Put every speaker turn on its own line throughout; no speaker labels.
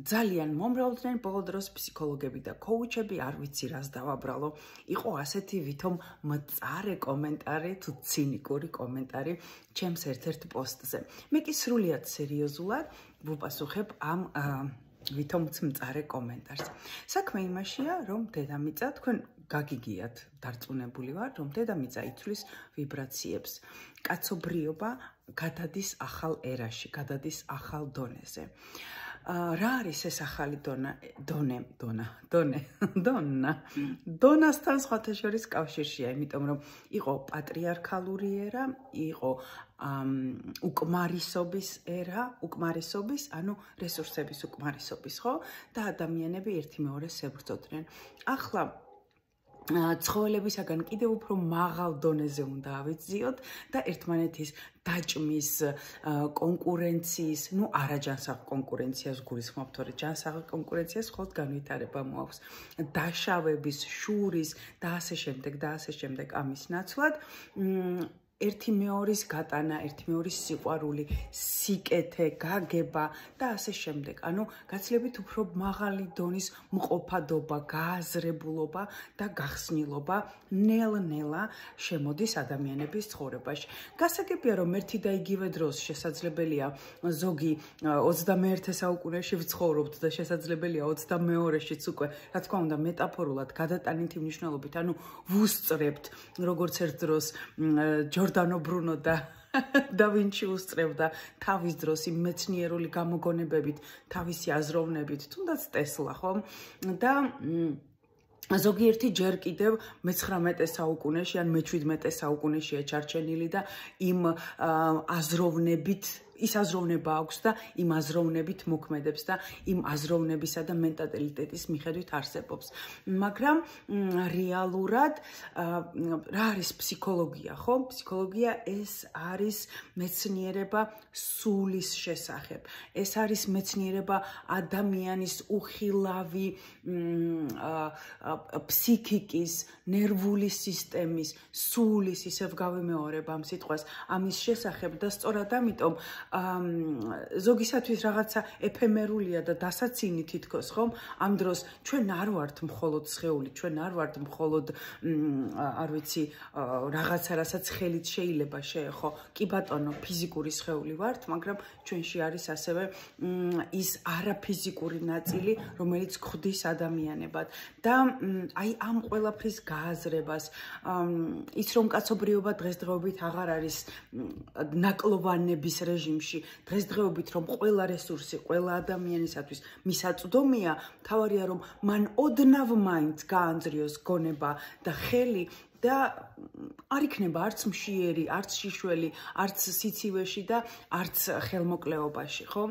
ძალიან მომრავლდნენ ბოლო დროს ფსიქოლოგები და კოუჩები, არ ვიცი რას დავაბრალო. იყო ასეთი ვითომ მწარე კომენტარი თუ ცინიკური კომენტარი ჩემს ერთ-ერთ პოსტზე. მე კი სრულიად სერიოზულად ვუპასუხებ ამ ვითომც მწარე კომენტარს. საქმე იმაშია, რომ დედამიწა თქვენ გაგიგიათ, დარწმუნებული ვარ, რომ დედამიწა იცვლის ვიბრაციებს. კაცობრიობა გადადის ახალ ერაში, გადადის ახალ დონეზე. რა არის ეს ახალი დონასთან სხვათა შორის კავშირშია, იმიტომ რომ იყო პატრიარქალური ერა, იყო უკმარისობის ერა, უკმარისობის, ანუ რესურსების უკმარისობის, ხო? და ადამიანები ერთი მეორეს ებრძოდნენ. ახლა ცხოველებისაგან კიდევ უფრო მაღალ დონეზე უნდა ავიძიოთ და ერთმანეთის დაჭმის, კონკურენციის, არაჯანსაღ კონკურენციას გულისხმობთ, თორე ჯანსაღ კონკურენციას მხოლოდ განვითარება მოაქვს. დაშავების, შურის და ასე შემდეგ ამის ნაცვლად ერთი მეორის გატანა, ერთი მეორის სიყვარული, სიკეთე, გაგება და ასე შემდეგ. ანუ გაცილებით უფრო მაღალი დონის მყოფადობა, გააზრებულობა და გახსნილობა ნელ-ნელა შემოდის ადამიანების ცხოვრებაში. გასაგებია, რომ ერთი და იგივე დროს შესაძლებელია ზოგი 21 საუკუნეში ვცხოვრობთ და შესაძლებელია 22-შიც უკვე, რა თქმა უნდა, მეტაფორულად გადატანითი მნიშვნელობით, ანუ ვუსწრებთ როგორც ერთ დროს ჯორდანო ბრუნო და და ვინჩი უსწრებდა თავის დროს იმ მეცნიერული გამოგონებებით, თავისი აზროვნებით, თუნდაც ტესლა, ხო? და ზოგიერთი ჯერ კიდევ მე-19 საუკუნეში ან მე-17 საუკუნეშია ჩარჩენილი და იმ აზროვნებით ის აზროვნება აქვს და იმ აზროვნებით მოქმედებს და იმ აზროვნებისა და მენტალიტეტის მიხედვით არსებობს. მაგრამ რეალურად რა არის ფსიქოლოგია, ხო? ფსიქოლოგია ეს არის მეცნიერება სულის შესახებ. ეს არის მეცნიერება ადამიანის უხილავი ფსიქიკის, ნერვული სისტემის, სულის, ისევ გავიმეორებ ამ სიტყვას, ამის შესახებ და სწორად ამიტომ ზოგისათვის რაღაცა ეფემერულია და დასაცინი თითქოს, ხომ? ამ დროს ჩვენ არ ვართ მხოლოდ სხეული, ჩვენ არ ვართ მხოლოდ არ ვიცი, რაღაცა, რასაც ხელით შეიძლება შეეხო. კი ბატონო, ფიზიკური სხეული ვართ, მაგრამ ჩვენში არის ასევე ის არაფიზიკური ნაწილი, რომელიც ხვდის ადამიანებად. და აი ამ ყველაფრის გააზრებას, ის რომ კაცობრიობა დღესდღეობით აღარ არის ნაკლოვანების რეჟიმში, დღესდღეობით რომ ყველა რესურსი, ყველა ადამიანისათვის მისაწვდომია, თავარია რომ მან ოდნავ მაინც გაანძრიოს გონება და ხელი და არ იქნება არც მშიერი, არც შიშველი, არც სიცივეში და არც ხელმოკლეობაში, ხო?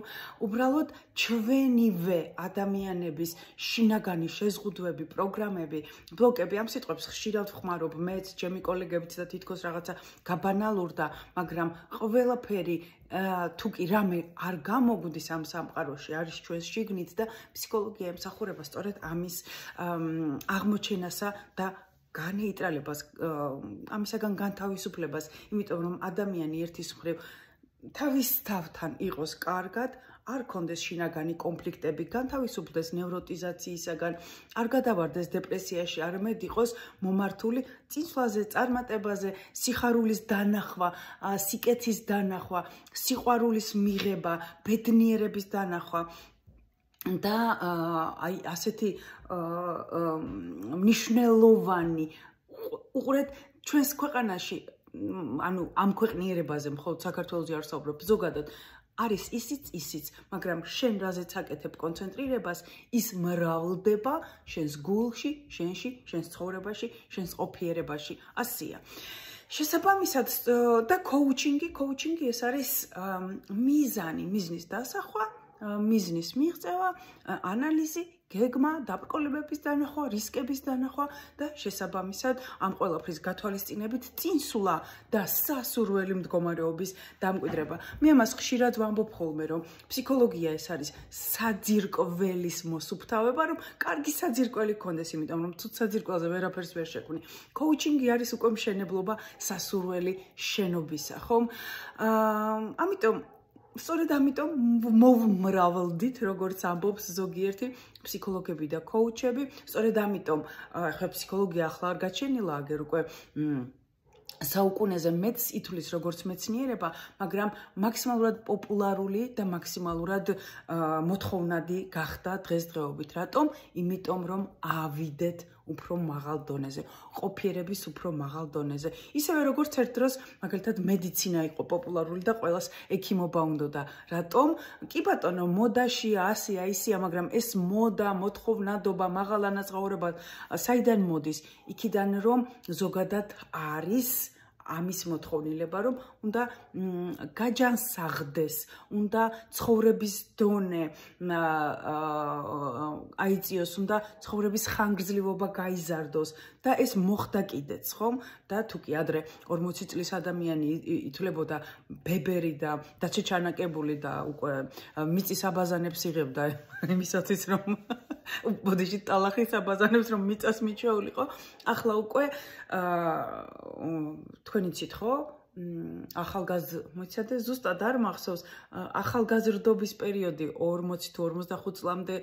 უბრალოდ ჩვენივე ადამიანების შინაგანი შეზღუდვები, პროგრამები, ბლოკები, ამ სიტყვებს ხშირად ვხმარობ მეც, ჩემი კოლეგებიც და თითქოს რაღაცა გაბანალურდა, მაგრამ ყველაფერი თუ კი რამე არ გამოგვდის ამ სამყაროში, არის ჩვენს შიგნით და ფსიქოლოგია ემსახურება სწორედ ამის აღმოჩენასა და განეიტრალებას, ამისაგან განთავისუფლებას, იმიტომ რომ ადამიანი ერთის მხრივ თავის თავთან იყოს კარგად, არ კონდეს შინაგანი კონფლიქტები, განთავისუფლდეს ნევროტიზაციისაგან, არ გადავარდეს დეპრესიაში, არამედ იყოს მომართული წინსვლაზე, წარმატებაზე, სიხარულის დანახვა, სიკეთის დანახვა, სიყვარულის მიღება, ბედნიერების დანახვა. და აი ასეთი მნიშვნელოვანი უყურეთ ჩვენს ქვეყანაში, ანუ ამ ქვეყნიერებაზე მხოლოდ საქართველოში არ ვსაუბრობ, ზოგადად არის ისიც, მაგრამ შენ რაზეც აკეთებ კონცენტრირებას, ის მრავლდება შენს გულში, შენში, შენს ცხოვრებაში, შენს ყოფიერებაში. ასია. შესაბამისად და კოუჩინგი ეს არის მიზანი, მიზნის დასახვა, მიზნის მიღწევა, ანალიზი, გეგმა, დაბრკოლებების დანახვა, რისკების დანახვა და შესაბამისად ამ ყველაფრის გათვალისწინებით წინსვლა და სასურველი მდგომარეობის დამკვიდრება. მე ამას ხშირად ვამბობ ხოლმე, რომ ფსიქოლოგია ეს არის საძირკველის მოსუფთავება, რომ კარგი საძირკველი გქონდეს, იმიტომ რომ თუ საძირკველზე ვერაფერს ვერ შექმნი. კოუჩინგი არის უკვე მშენებლობა სასურველი შენობისა, ხომ? ამიტომ სწორედ ამიტომ მოვმრავლდით, როგორც ამბობს ზოგიერთი ფსიქოლოგები და კოუჩები, სწორედ ამიტომ ახლა ფსიქოლოგია ახლა არ გაჩენილა, აგერ უკვე საუკუნეზე მეც ითვლის როგორც მეცნიერება, მაგრამ მაქსიმალურად პოპულარული და მაქსიმალურად მოთხოვნადი გახდა დღესდღეობით. რატომ? იმიტომ რომ ავიდეთ უფრო მაღალ დონეზე, ყოფიერების უფრო მაღალ დონეზე. ისევე როგორც ერთ დროს მაგალითად მედიცინა იყო პოპულარული და ყველას ექიმობა უნდოდა. რატომ? კი ბატონო, მოდაშია, ასია, ისია, მაგრამ ეს მოდა, მოთხოვნადობა, მაღალ ანაზღაურება საიდან მოდის? იქიდან რომ ზოგადად არის ამის მოთხოვნილება, რომ უნდა გაჯანსაღდეს, უნდა ცხოვრების დონე აიწიოს, უნდა ცხოვრების ხანგრძლივობა გაიზარდოს და ეს მოხდა კიდეც, ხომ? და თუ კი ადრე 40 წლის ადამიანი ითვლებოდა ბებერი და დაცეჩანაკებული და უკვე მიწის აბაზანებს იღებდა იმისათვის, რომ ბოდიში ტალახის აბაზანებს რომ მიწას მიჩეულიყო, ახლა უკვე თქვენ იცით ხო? მოიცადე ზუსტად არ მახსოვს, ახალგაზრდობის პერიოდი 40 თუ 45 წლამდე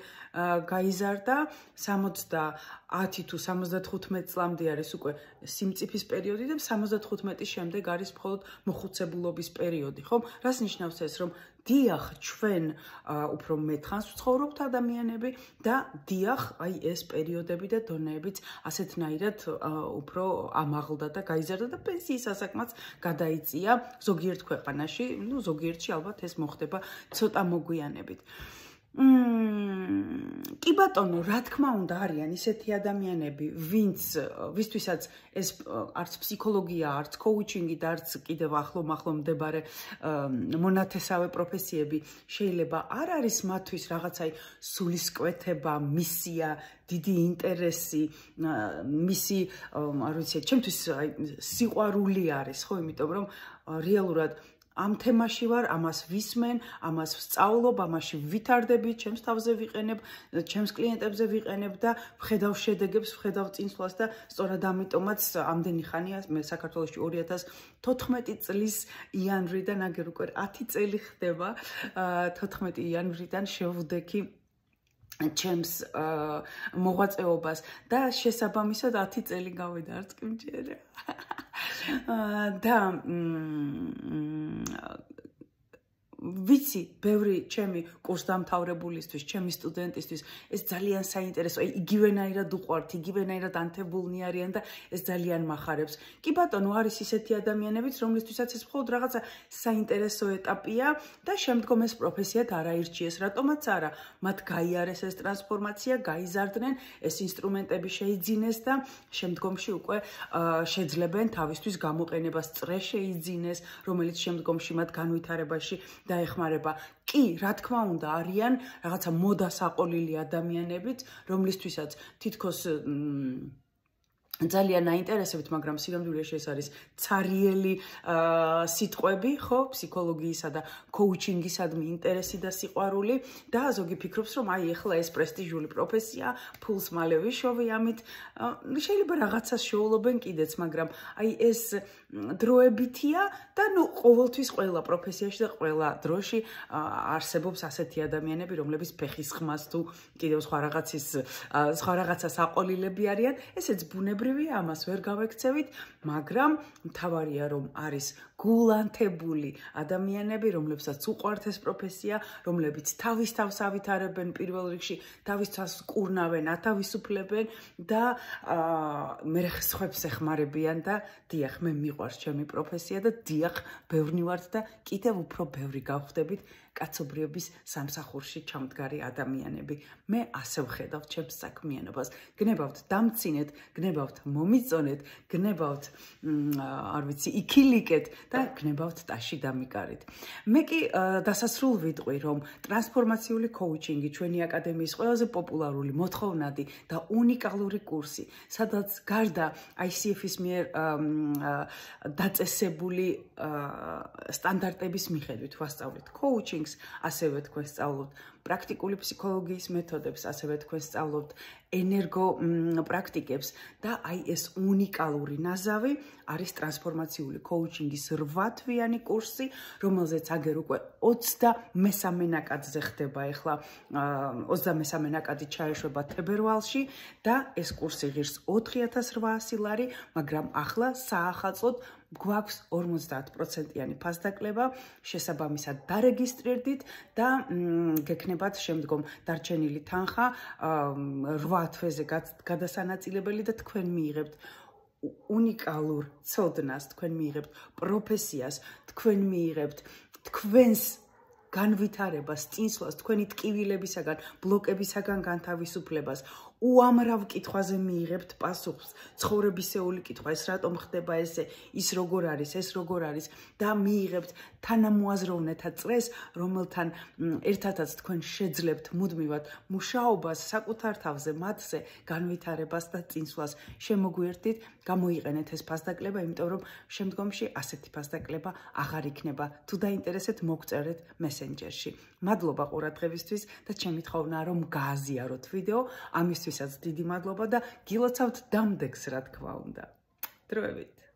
გაიზარდა, 70 თუ 75 წლამდე არის უკვე სიმწიფის პერიოდი და 75-ის შემდეგ არის მხოლოდ მოხუცებულობის პერიოდი, ხო? რას ნიშნავს ეს, რომ დიახ, ჩვენ უფრო მეტხანს ვცხოვრობთ ადამიანები და დიახ, აი ეს პერიოდები და დონეებიც ასეთნაირად უფრო ამაღლდა და გაიზარდა და პენსიის ასაკმაც გადაიწია ზოგიერთ ქვეყანაში, ну ზოგიერთში ალბათ ეს მოხდება ცოტა მოგვიანებით. კი ბატონო, რა თქმა უნდა არიან ისეთი ადამიანები, ვისთვისაც ეს არც ფსიქოლოგია, არც კოუჩინგი და არც კიდევ ახლო მდებარე მონათესავე პროფესიები შეიძლება არ არის მათთვის რაღაცაი სულისკვეთება, მისია, დიდი ინტერესი, მისი, არ ვიცი, ჩემთვის სიყვარული არის, ხო, იმიტომ რომ რეალურად ამ თემაში ვარ, ამას ვისმენ, ამას ვსწავლობ, ამაში ვითარდები, ჩემს თავზე ვიყენებ, ჩემს კლიენტებზე ვიყენებ და ვხედავ შედეგებს, ვხედავ წინსვლას და სწორად ამიტომაც ამდენი ხანია მე საქართველოში 2014 წლის იანვრიდან აგერ უკვე 10 წელი ხდება, 14 იანვრიდან შევვდექი ჩემს მოღვაწეობას და შესაბამისად 10 წელი გავიდა, არც კი მჯერა. და ვიცი, ბევრი ჩემი კურსდამთავრებულისთვის, ჩემი სტუდენტისთვის ეს ძალიან საინტერესო, იგივენაირად უყვართ, იგივენაირად ანთებულნი არიან და ეს ძალიან მახარებს. კი ბატონო, არის ისეთი ადამიანებიც, რომლისთვისაც ეს მხოლოდ რაღაცა საინტერესო ეტაპია და შემდგომ ეს პროფესიად არ აირჩიეს. რატომაც არა, მათ გაიარეს ეს ტრანსფორმაცია, გაიზარდნენ, ეს ინსტრუმენტები შეიძინეს და შემდგომში უკვე შეძლებენ თავისთვის გამოყენებას, წრე შეიძინეს, რომელიც შემდგომში მათ განვითარებაში დაეხმარება. კი, რა თქმა უნდა, არიან რაღაცა მოდასაყოლილი ადამიანებიც, რომლისთვისაც თითქოს ძალიან აინტერესებთ, მაგრამ სინამდვილეში ეს არის ცარიელი სიტყვები, ხო, ფსიქოლოგიისა და კოუჩინგისადმი ინტერესი და სიყვარული და ზოგი ფიქრობს, რომ აი ეხლა ეს პრესტიჟული პროფესია, ფულს მალე ვიშოვი ამით, შეიძლება რაღაცას შეულობენ კიდეც, მაგრამ აი ეს დროებითია და ნუ ყოველთვის ყველა პროფესიაში და ყველა დროში არსებობს ასეთი ადამიანები, რომლებიც ფეხის ხმას თუ კიდევ სხვა რაღაცას აყოლილები არიან, ესეც ბუნებრივია, ამას ვერ გავექცევით, მაგრამ მთავარია რომ არის გულანთებული ადამიანები, რომლებსაც უყვართ ეს პროფესია, რომლებიც თავის თავს ავითარებენ პირველ რიგში, თავის თავს კურნავენ, ათავისუფლებენ და მე სხვებს ეხმარებიან და დიახ, მე მიყვარს ჩემი პროფესია და დიახ, ბევრნი ვართ და კიდევ უფრო ბევრი გავხდებით კაცობრიობის სამსახურში ჩამდგარი ადამიანები. მე ასე ვხედავ ჩემს საქმიანობას. გნებავთ დამცინეთ, გნებავთ მომიწონეთ, გნებავთ, არ ვიცი, იქილიკეთ და გნებავთ ტაში დამიკარით. მე კი დასასრულ ვიტყვი, რომ ტრანსფორმაციული კოუჩინგი ჩვენი აკადემიის ყველაზე პოპულარული, მოთხოვნადი და უნიკალური კურსი, სადაც გარდა ICF-ის მიერ დაწესებული სტანდარტების მიხედვით ვასწავლეთ კოუჩინგს, ასევე თქვენ სწავლობთ პრაქტიკული ფსიქოლოგიის მეთოდებს, ასევე თქვენ სწავლობთ ენერგო პრაქტიკებს და აი ეს უნიკალური ნაზავი არის ტრანსფორმაციული კოუჩინგის 8 თვიანი კურსი, რომელზეც აგერ უკვე 23 ნაკადზე ხდება ახლა 23 ნაკადი ჩაეშვება თებერვალში და ეს კურსი ღირს 4800 ლარი, მაგრამ ახლა საახალწლოდ გვაქვს 50%-იანი ფასდაკლება, შესაბამისად დარეგისტრირდით და გექნებათ შემდგომ დარჩენილი თანხა 8 თვეზე გადასანაწილებელი და თქვენ მიიღებთ უნიკალურ ცოდნას, თქვენ მიიღებთ პროფესიას, თქვენ მიიღებთ თქვენს განვითარებას, წინსვლას, თქვენი ტკივილებისაგან, ბლოკებისაგან განთავისუფლებას, უამრავ კითხვაზე მიიღებთ პასუხს, ცხოვრებისეული კითხვა, ეს რატომ ხდება ესე, ის როგორ არის, ეს როგორ არის და მიიღებთ თანამოაზროვნეთა წრეს, რომელთან ერთადაც თქვენ შეძლებთ მუდმივად მუშაობას საკუთარ თავზე, მათზე განვითარებას და წინსვლას. შემოგვიერთდით, გამოიყენეთ ეს ფასდაკლება, იმიტომ რომ შემდგომში ასეთი ფასდაკლება აღარ იქნება. თუ დაინტერესეთ, მოგწერეთ მესენჯერში. მადლობა ყურადღებისთვის და ჩემი თხოვნა რომ გააზიაროთ ვიდეო, ამისთვისაც დიდი მადლობა და გილოცავთ დამდეგს, რა თქმა უნდა. დროებით.